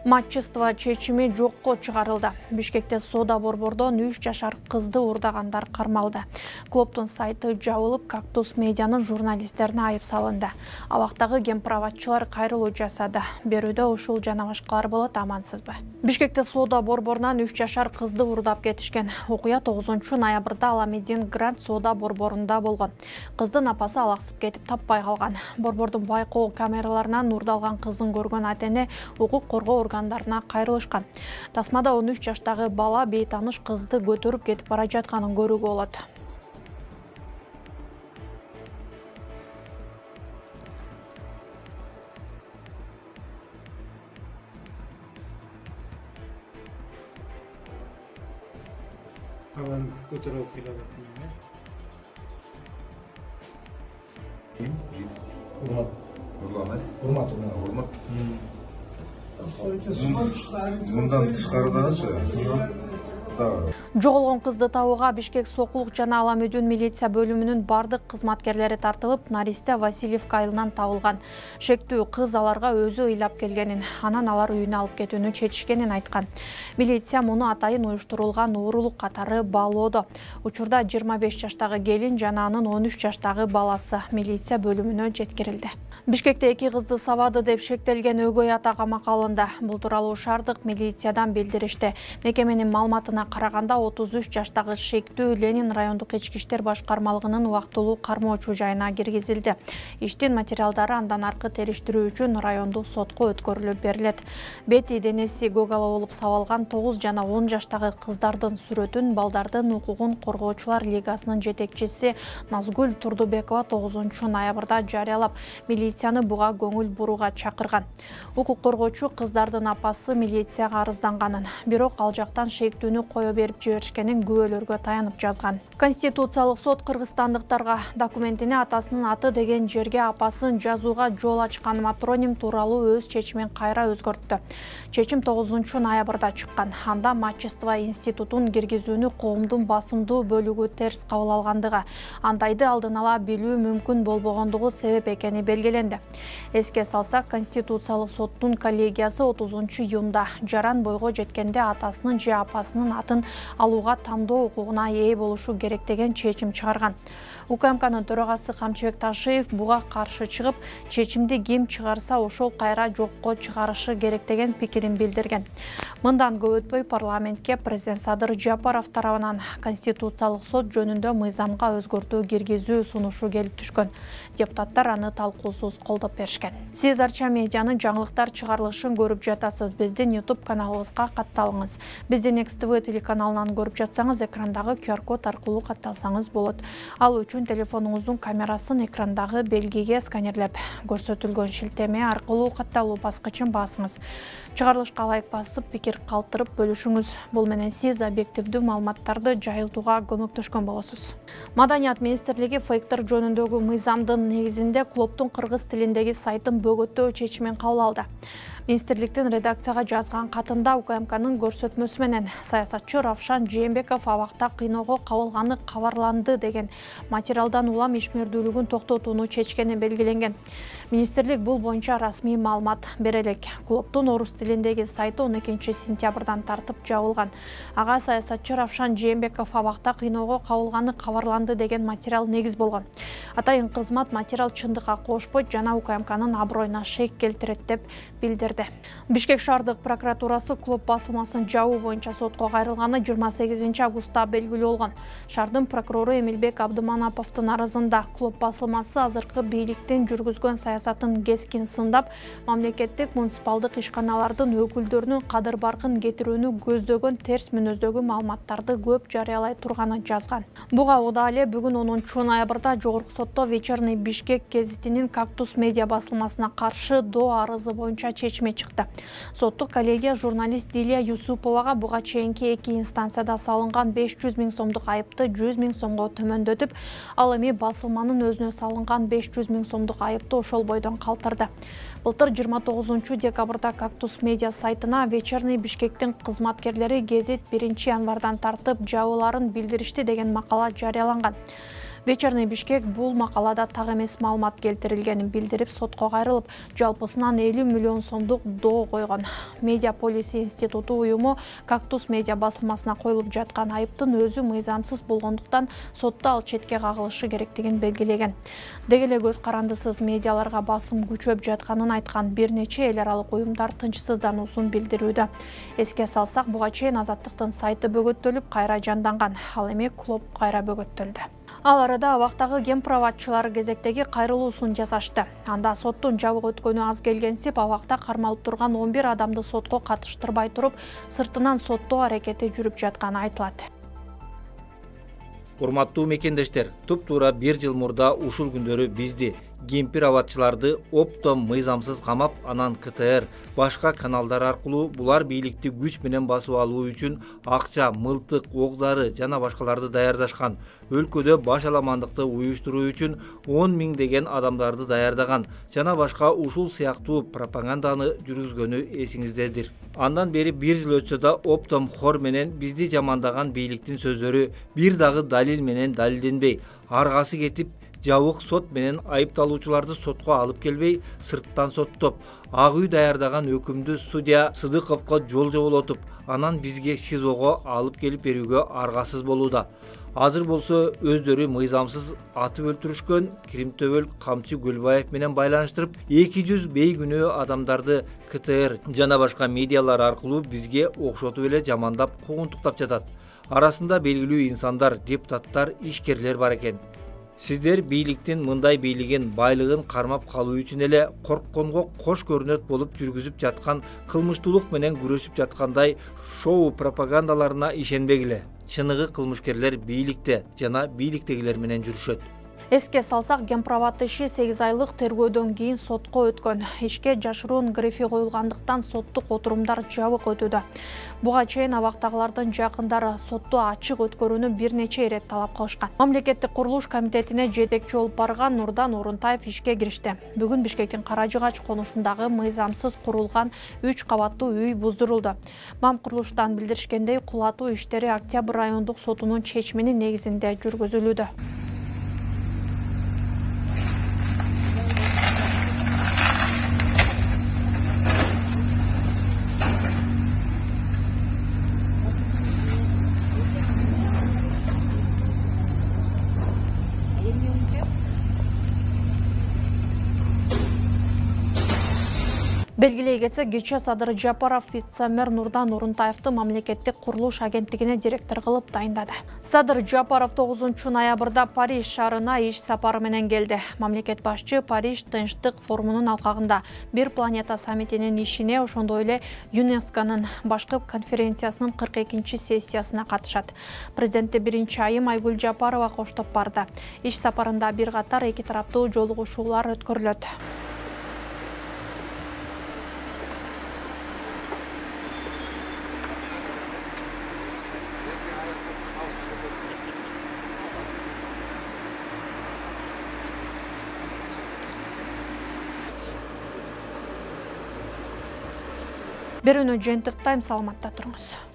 Матчество чечими жокко чыгарылды. Бишкекте соода борбордон 3 жашар кызды урдагандар кармалды. Клубдун сайты жабылып, Кактус медианын журналисттерине айып салынды. Абактагы кемпирабатчылар кайрылуу жасады. Берүүдө ушул жана башкалар болот, амансызбы? Бишкекте соода борборунан 3 жашар кызды урдап кетишкен. Окуя 9-ноябрда Аламедин Гранд соода борборунда болгон. Кыздын апасы алаксып кетип таппай калган. Борбордун байкоо камераларынан урдалган кыздын көргөн ата-эне укук коргоо органдарына кайрылышкан. Тасмада 13 жаштагы бала бейтаныш кызды көтөрүп кетип бара жатканын көрүүгө болот. Alan götürüp filadelfiya'ya. Hurmat. Bundan tышкарыдагычы. Жоголгон кызды табууга Бишкек сокулук жана Аламөдүн милиция бөлүмүнүн бардык кызматкерлери тартылып, Наристе Васильевка айылынан табылган. Шектүү кыз аларга өзү ыйлап келгенин, анан алар үйүнө алып кетүүнү чечишкенин айткан. Милиция муну атайын уюштурулган уурулук катары баалоодо. Учурда 25 жаштагы келин жана анын 13 жаштагы баласы милиция бөлүмүнө жеткирилди. Бишкекте 2 кызды сабады деп шектелген өгөй ата камакка алынды. Бул тууралуу шаардык милициядан билдиришти. Мекеменин маалыматына караганда 33 жаштагы шектүү Ленин райондук ички иштер башкармалыгынын убактылуу кармоочу жайына киргизилди. Иштин материалдары андан аркы териштирүү үчүн райондук сотко өткөрүлүп берилет. Бети денеси гөгала болуп сабалган 9 жана 10 жаштагы кыздардын сүрөтүн балдардын укугун коргоочулар лигасынын жетекчиси Назгүл Турдубекова 9-ноябрда жарыялап, милицияны буга көңүл бурууга чакырган. Укук коргоочу кыздардын апасы милицияга арызданганын, бирок ал жактан шектүүнү кое берип жиберишкенин күбөлөргө таянып жазган. Конституциялык сот кыргызстандыктарга документине атасынын аты деген жерге апасын жазууга жол ачкан матроним тууралуу өз чечимин кайра өзгөрттү. Чечим 9-ноябрда чыккан. Анда матчество институтун киргизүүнү коомдун басымдуу бөлүгү терс кабыл алгандыгы, андайды алдын ала билүү мүмкүн болбогондугу себеп экени белгиленди. Эске салсак, Конституциялык соттун коллегиясы 30-июнда жаран бойго жеткенде атасынын же апасынын атын алууга тандоо укугуна ээ болушу керек деген чечим чыгарган. УКМКнын төрагасы Камчыбек Ташиев буга каршы чыгып, чечимди ким чыгарса ошол кайра жокко чыгарышы керек деген пикирин билдирген. Мындан көп өтпөй парламентке президент Садыр Жапаров тарабынан Конституциялык сот жөнүндө мыйзамга өзгөртүү киргизүү сунушу келип түшкөн. Депутаттар аны талкуусуз колдоп беришкен. Сиз Арча медианын жаңылыктар чыгарылышын көрүп жатасыз. Биздин YouTube каналыбызга катталыңыз. Биздин XTV телеканалынан көрүп жатсаңыз, экрандагы QR-код аркылуу катталсаңыз болот. Ал үчүн телефонуңуздун камерасын экрандагы белгиге сканерлеп, көрсөтүлгөн шилтеме аркылуу катталуу баскычын басыңыз. Чыгарылышка лайк басып, пикир калтырып бөлүшүңүз. Бул менен сиз объективдүү маалыматтарды жайылтууга көмөктөшкөн болосуз. Маданият министрлиги фейктер жөнүндөгү мыйзамдын негизинде клубдун кыргыз тилиндеги сайтын бөгөттөө чечимин кабыл алды. Министрликтин редакцияга жазган катында УКМКнын көрсөтмөсү менен саясатчы Равшан Жээнбеков абакта кыйноого кабылганы кабарланды деген материалдан улам ишмердүүлүгүн токтотууну чечкени белгиленген. Министрлик бул боюнча расмий маалымат бере элек. Клубдун орус тилиндеги сайты 12-сентябрдан тартып жабылган. Ага саясатчы Равшан Жээнбеков абакта кыйноого кабылганы кабарланды деген материал негиз болгон. Атайын кызмат материал чындыкка кошпойт жана УКМКнын аброюна шек келтирет деп билдирди. Бишкек шаардык прокуратурасы клуб басылмасын жабуу боюнча сотко кайрылганы 28 августта белгилүү болгон. Шаардын прокурору Эмилбек Абдыманаповдун арызында клуб басылмасы азыркы бийликтин жүргүзгөн саясатын кескин сындап, мамлекеттик муниципалдык ишканалардын өкүлдөрүнүн кадыр баркын кетирүүнү көздөгөн терс мүнөздөгү маалыматтарды көп жарыялай турганын жазган. Буга убада эле бүгүн 10-ноябрда жогорку сотто Вечерний Бишкек гезитинин Кактус медиа басылмасына каршы доо арызы боюнча чечими чыкты. Соттук коллегия журналист Дилия Юсуповага буга чейинки 2 инстанцияда салынган 500 000 сомдук айыпты 100 000 сомго төмөндөтүп, ал эми басылманын өзүнө салынган 500 000 сомдук айыпты ошол бойдон калтырды. Былтыр 29-декабрда Кактус медиа сайтына Вечерний Бишкектин кызматкерлери гезит 1-январдан тартып жабууларын билдиришти деген макала жарыяланган. Вечерний Бишкек бул макалада так эмес маалымат келтирилгенин билдирип, сотко кайрылып, жалпысынан 50 миллион сомдук доо койгон. Медиа Полиси институту уюму Кактус медиа басылмасына коюлуп жаткан айыптын өзү мыйзамсыз болгондуктан сотто ал четке кагылышы керектигин белгилеген. Деги эле көз карандысыз медиаларга басым күчөп жатканын айткан бир нече эл аралык уюмдар тынчсыздануусун билдирүүдө. Эске салсак, буга чейин Азаттыктын сайты бөгөттөлүп, кайра жанданган, ал эми клуб кайра бөгөттөлдү. Ал арада абактагы кемпироватчылар кезектеги кайрылуусун жасашты. Анда соттун жабык өткөнү аз келгенсип, абакта кармалып турган 11 адамды сотко катыштырбай туруп, сыртынан соттоо аракети жүрүп жатканы айтылат. Урматтуу мекендештер, туп-туура 1 жыл мурда ушул күндөрү бизди кемпироватчыларды оптом мыйзамсыз камап, анан КТР башка каналдар аркылуу булар бийликти күч менен басып алуу үчүн акча, мылтык, ок-дары жана башкаларды даярдашкан. Өлкөдө баш аламандыкты уюштуруу үчүн 10 000 деген адамдарды даярдаган жана башка ушул сыяктуу пропаганданы жүргүзгөнү эсиңиздедир. Андан бери 1 жыл өтсө да оптом хор менен бизди жамандаган бийликтин сөздөрү бир дагы далил менен далилденбей, аргасы кетип, жабык сот менен айыпталуучуларды сотко алып келбей, сырттан соттоп, Ак үй даярдаган өкүмдү судья Сыдыковго жол жоболотуп, анан бизге ШИЗОго алып келип берүүгө аргасыз болууда. Азыр болсо өздөрү мыйзамсыз атып өлтүрүшкөн Киримтөбөл Камчы Гөлбаев менен байланыштырып, 200 бейгүнөө адамдарды КТР жана башка медиалар аркылуу бизге окшотуп эле жамандап, куугунтуктап жатат. Арасында белгилүү инсандар, депутаттар, ишкерлер бар экен. Сиздер бийликтин мындай бийлигин, байлыгын кармап калуу үчүн эле коркконго кош көрүнөт болуп жүргүзүп жаткан кылмыштуулук менен күрөшүп жаткандай шоу пропагандаларына ишенбегиле. Чыныгы кылмышкерлер бийликте жана бийликтегилер менен жүрүшөт. Эске салсак, кемпироват иши 8 айлык тергөөдөн кийин сотко өткөн. Ишке жашыруун грифи коюлгандыктан соттук отурумдар жабык өтүүдө. Буга чейин абактагылардын жакындары сотто ачык өткөрүүнү бир нече ирет талап кылышкан. Мамлекеттик курулуш комитетине жетекчи болуп барган Нурдан Орунтаев ишке киришти. Бүгүн Бишкектин Каражыгач конушундагы мыйзамсыз курулган 3 кабаттуу үй буздурулду. Мам курулуштан билдиришкендей, кулатуу иштери Октябрь райондук сотунун чечиминин негизинде жүргүзүлүүдө. Белгилей кетсек, кечээ Садыр Жапаров вице-мэр Нурдан Орунтаевди мамлекеттик курулуш агенттигине директор кылып дайындады. Садыр Жапаров 9 ноябрда Париж шаарына иш сапары менен келди. Мамлекет башчы Париж тынчтык форумунун алкагында Бир планета саммитинин ишине, ошондой эле ЮНЕСКОнун башкы конференциясынын 42-сессиясына катышат. Президенти 1-айым Айгүл Жапарова коштоп барды. Иш сапарында бир катар эки тараптуу жолугушуулар өткөрүлөт. Берүүнү жыйынтыктайм, саламатта туруңуз.